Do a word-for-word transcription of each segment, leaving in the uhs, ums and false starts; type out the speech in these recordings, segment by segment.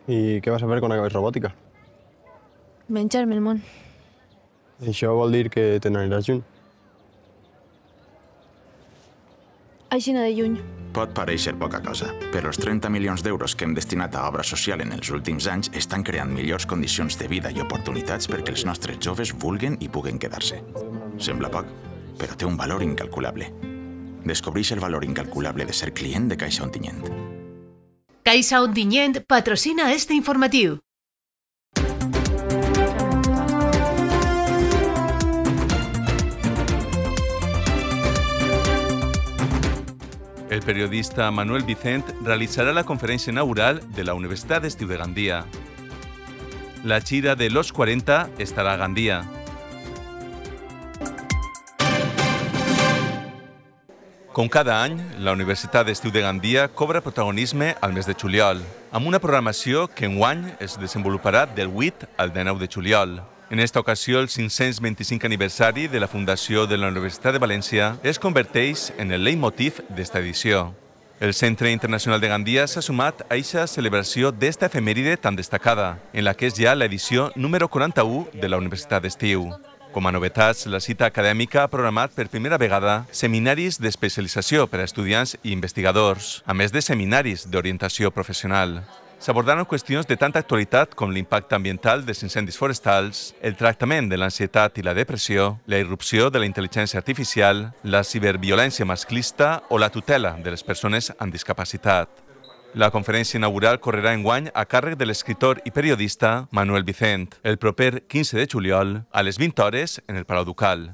I què vas a fer quan acabis robòtica? Menjar-me el món. Això vol dir que te n'aniràs lluny. Aixina de lluny. Pot parèixer poca cosa, però els trenta milions d'euros que hem destinat a obra social en els últims anys estan creant millors condicions de vida i oportunitats perquè els nostres joves vulguen i puguen quedar-se. Sembla poc, però té un valor incalculable. Descobreix el valor incalculable de ser client de Caixa Ontinyent. Caixa Ontinyent patrocina este informatiu. El periodista Manuel Vicent realizará la conferencia inaugural de la Universidad Estiu de Gandía. La Chira de los cuarenta estará a Gandía. Com cada any, la Universitat Estiu de Gandia cobra protagonisme al mes de juliol, amb una programació que enguany es desenvoluparà del vuit al dinou de juliol. En esta ocasió, el cinc-cents vint-i-cinc aniversari de la fundació de la Universitat de València es converteix en el leitmotiv d'esta edició. El Centre Internacional de Gandia s'ha sumat a aquesta celebració d'esta efemèride tan destacada, en la que és ja l'edició número quaranta-u de la Universitat d'Estiu. Com a novetats, la cita acadèmica ha programat per primera vegada seminaris d'especialització per a estudiants i investigadors, a més de seminaris d'orientació professional. S'abordaran qüestions de tanta actualitat com l'impacte ambiental dels incendis forestals, el tractament de l'ansietat i la depressió, la irrupció de la intel·ligència artificial, la ciberviolència masclista o la tutela de les persones amb discapacitat. La conferència inaugural correrà enguany a càrrec de l'escriptor i periodista Manuel Vicent, el proper quinze de juliol, a les vint hores, en el Palau Ducal.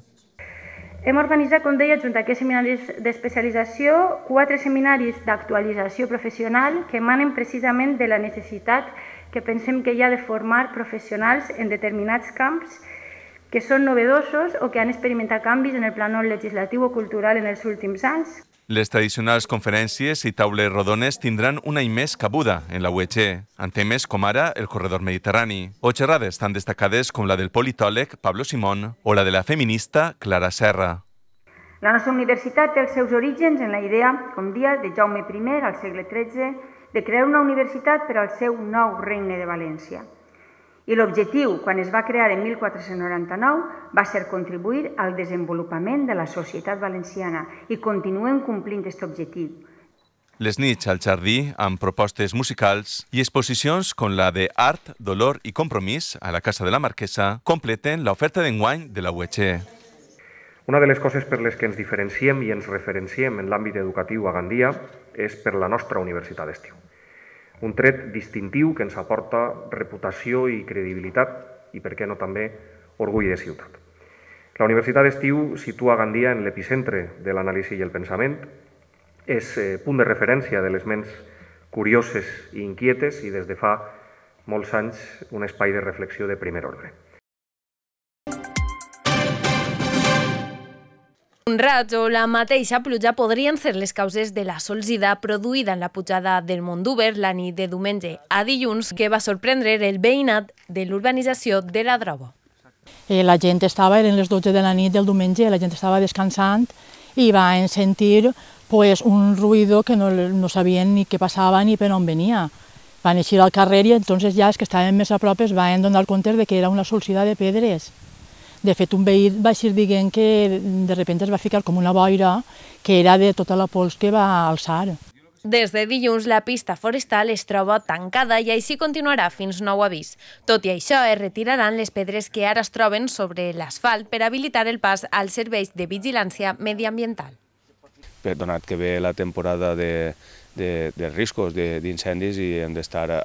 Hem organitzat, com deia, junt a aquests seminaris d'especialització, quatre seminaris d'actualització professional que emanen precisament de la necessitat que pensem que hi ha de formar professionals en determinats camps que són novedosos o que han experimentat canvis en el plànol legislatiu o cultural en els últims anys. Les tradicionals conferències i taules rodones tindran un any més cabuda en la U E G, en temes com ara el corredor mediterrani, o xerrades tan destacades com la del politòleg Pablo Simón o la de la feminista Clara Serra. La nostra universitat té els seus orígens en la idea, com dia, de Jaume primer al segle tretze, de crear una universitat per al seu nou regne de València. I l'objectiu, quan es va crear en mil quatre-cents noranta-nou, va ser contribuir al desenvolupament de la societat valenciana i continuem complint aquest objectiu. Les nits al jardí, amb propostes musicals i exposicions com la de Art, Dolor i Compromís a la Casa de la Marquesa, completen l'oferta d'enguany de la U E G. Una de les coses per les que ens diferenciem i ens referenciem en l'àmbit educatiu a Gandia és per la nostra Universitat d'Estiu. Un tret distintiu que ens aporta reputació i credibilitat i, per què no també, orgull de ciutat. La Universitat d'Estiu situa Gandia en l'epicentre de l'anàlisi i el pensament, és punt de referència de les ments curioses i inquietes i des de fa molts anys un espai de reflexió de primer ordre. Un raig o la mateixa pluja podrien ser les causes de la solsida produïda en la pujada del Mont d'Úber la nit de diumenge a dilluns, que va sorprendre el veïnat de l'urbanització de la Drobo. La gent estava, eren les dotze de la nit del diumenge, la gent estava descansant i van sentir pues, un ruïdo que no, no sabien ni què passava ni per on venia. Van eixir al carrer i entonces ja els que estaven més a prop es van donar compte de que era una solsida de pedres. De fet, un veí va eixir dient que de sobte es va ficar com una boira que era de tota la pols que va alçar. Des de dilluns, la pista forestal es troba tancada i així continuarà fins nou avís. Tot i això, es retiraran les pedres que ara es troben sobre l'asfalt per habilitar el pas als serveis de vigilància mediambiental. Donat que ve la temporada de, de, de riscos d'incendis i hem d'estar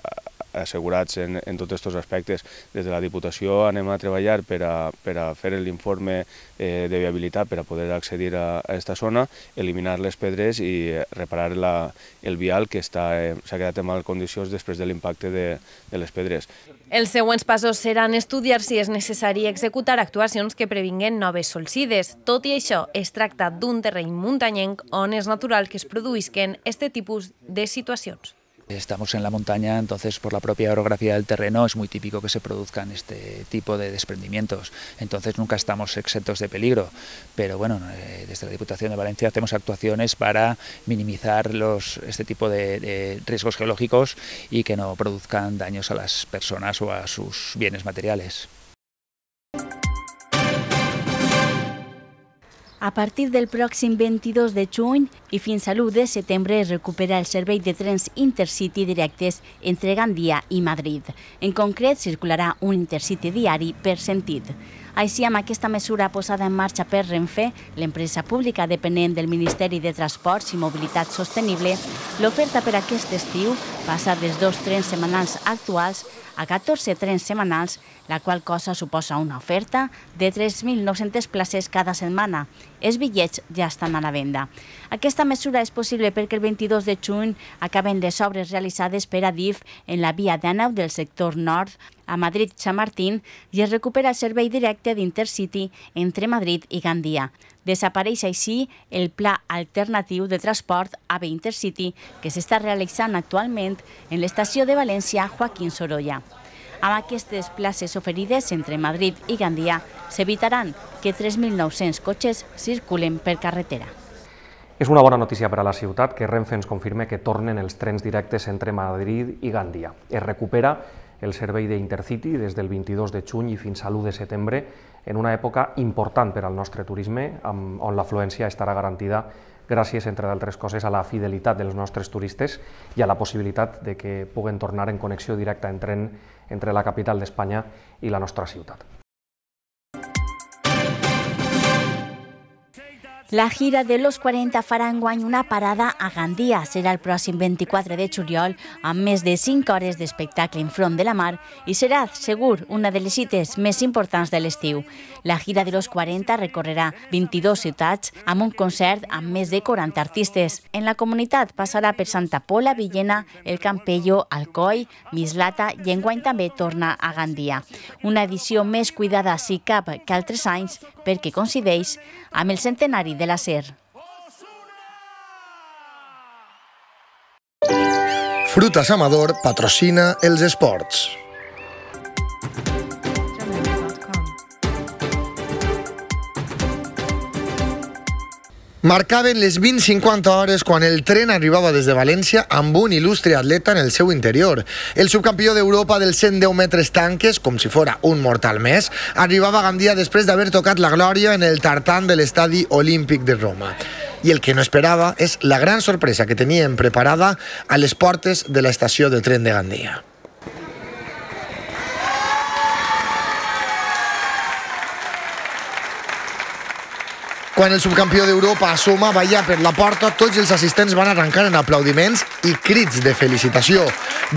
assegurats en, en tots aquests aspectes. Des de la Diputació anem a treballar per a, per a fer l'informe eh, de viabilitat per a poder accedir a aquesta zona, eliminar les pedres i reparar la, el vial que s'ha eh, quedat en mal condicions després de l'impacte de, de les pedres. Els següents passos seran estudiar si és necessari executar actuacions que previnguen noves solsides. Tot i això, es tracta d'un terreny muntanyenc on és natural que es produïsquen aquest tipus de situacions. Estamos en la montaña, entonces por la propia orografía del terreno es muy típico que se produzcan este tipo de desprendimientos. Entonces nunca estamos exentos de peligro, pero bueno, eh, desde la Diputación de Valencia hacemos actuaciones para minimizar los, este tipo de, de riesgos geológicos y que no produzcan daños a las personas o a sus bienes materiales. A partir del pròxim vint-i-dos de juny i fins a l'u de setembre es recupera el servei de trens Intercity directes entre Gandia i Madrid. En concret, circularà un Intercity diari per sentit. Així, amb aquesta mesura posada en marxa per Renfe, l'empresa pública dependent del Ministeri de Transports i Mobilitat Sostenible, l'oferta per aquest estiu passa dels dos trens setmanals actuals a catorze trens setmanals, la qual cosa suposa una oferta de tres mil nou-centes places cada setmana. Els bitllets ja estan a la venda. Aquesta mesura és possible perquè el vint-i-dos de juny acaben les obres realitzades per Adif en la via d'Àneu del sector nord a Madrid-Chamartín i es recupera el servei directe d'Intercity entre Madrid i Gandia. Desapareix així el pla alternatiu de transport A V E Intercity que s'està realitzant actualment en l'estació de València Joaquín Sorolla. Amb aquestes places oferides entre Madrid i Gandia s'evitaran que tres mil nou-cents cotxes circulen per carretera. És una bona notícia per a la ciutat que Renfe ens confirme que tornen els trens directes entre Madrid i Gandia. Es recupera el servei d'Intercity des del vint-i-dos de juny i fins a l'u de setembre en una època important per al nostre turisme, on l'afluència estarà garantida gràcies, entre d'altres coses, a la fidelitat dels nostres turistes i a la possibilitat de que puguen tornar en connexió directa en tren entre la capital d'Espanya i la nostra ciutat. La gira de los quaranta farà enguany una parada a Gandia. Serà el pròxim vint-i-quatre de juliol amb més de cinc hores d'espectacle enfront de la mar i serà, segur, una de les cites més importants de l'estiu. La gira de los quaranta recorrerà vint-i-dues ciutats amb un concert amb més de quaranta artistes. En la comunitat passarà per Santa Pola, Villena, El Campello, Alcoi, Mislata i enguany també torna a Gandia. Una edició més cuidada, si cap, que altres anys perquè coincideix amb el centenari de la S E R. Frutas Amador patrocina els esports. Marcaven les vint cinquanta hores quan el tren arribava des de València amb un il·lustre atleta en el seu interior. El subcampió d'Europa dels cent deu metres tanques, com si fora un mortal més, arribava a Gandia després d'haver tocat la glòria en el tartan de l'Estadi Olímpic de Roma. I el que no esperava és la gran sorpresa que tenien preparada a les portes de l'estació de tren de Gandia. Quan el subcampió d'Europa assomava ja per la porta, tots els assistents van arrencar en aplaudiments i crits de felicitació.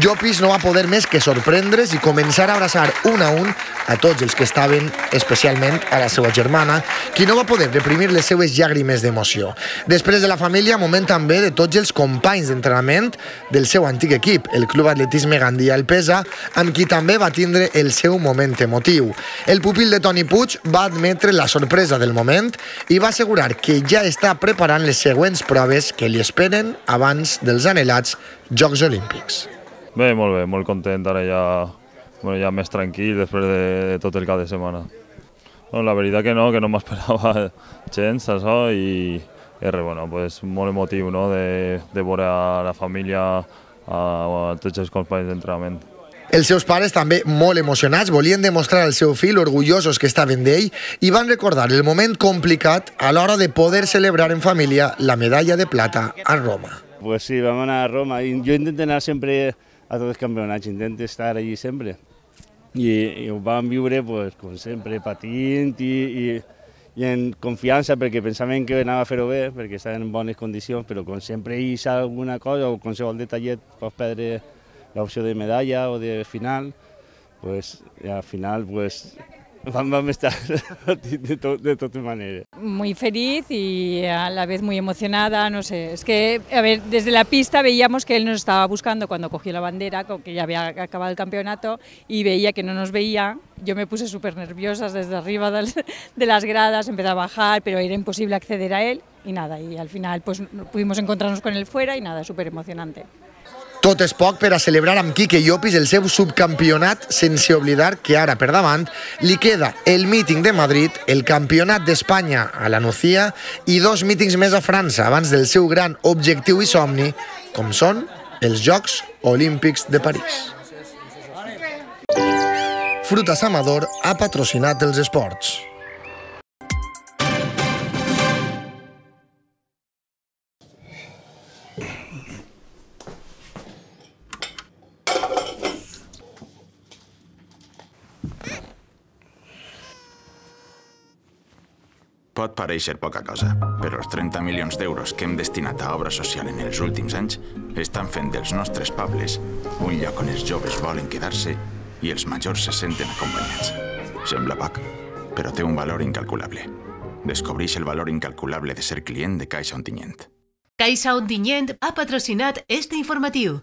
Llopis no va poder més que sorprendre's i començar a abraçar un a un a tots els que estaven, especialment a la seva germana, qui no va poder reprimir les seues llàgrimes d'emoció. Després de la família, moment també de tots els companys d'entrenament del seu antic equip, el Club Atletisme Gandia El Pesa, amb qui també va tindre el seu moment emotiu. El pupil de Toni Puig va admetre la sorpresa del moment i va assegurar que ja està preparant les següents proves que li esperen abans dels anhelats Jocs Olímpics. Bé, molt bé, molt content, ara ja, bueno, ja més tranquil després de, de tot el cap de setmana. Bueno, la veritat que no, que no m'esperava gens, això, i és bueno, pues, molt emotiu, no?, de, de veure a la família, a, a tots els companys d'entrenament. Els seus pares, també molt emocionats, volien demostrar al seu fill orgullosos que estaven d'ell i van recordar el moment complicat a l'hora de poder celebrar en família la medalla de plata a Roma. Pues sí, vam anar a Roma. Jo intento anar sempre a tots els campionats, intento estar allí sempre. I, i ho vam viure, pues, com sempre, patint i, i, i en confiança, perquè pensaven que anava a fer-ho bé, perquè estaven en bones condicions, però com sempre hi ha alguna cosa o qualsevol detallet pots perdre l'opció de medalla o de final, pues al final pues vamos a estar de, to de todas maneras. Muy feliz y a la vez muy emocionada, no sé, es que, a ver, desde la pista veíamos que él nos estaba buscando cuando cogió la bandera, que ya había acabado el campeonato, y veía que no nos veía. Yo me puse súper nerviosa desde arriba de las gradas, empecé a bajar, pero era imposible acceder a él, y nada, y al final pues pudimos encontrarnos con él fuera y nada, súper emocionante. Tot és poc per a celebrar amb Quique Llopis el seu subcampionat, sense oblidar que ara per davant li queda el míting de Madrid, el campionat d'Espanya a la Nucía i dos mítings més a França abans del seu gran objectiu i somni, com són els Jocs Olímpics de París. Frutas Amador ha patrocinat els esports. Pot pareixer poca cosa, però els trenta milions d'euros que hem destinat a obra social en els últims anys estan fent dels nostres pobles un lloc on els joves volen quedar-se i els majors se senten acompanyats. Sembla poc, però té un valor incalculable. Descobreix el valor incalculable de ser client de Caixa Ontinyent. Caixa Ontinyent ha patrocinat este informatiu.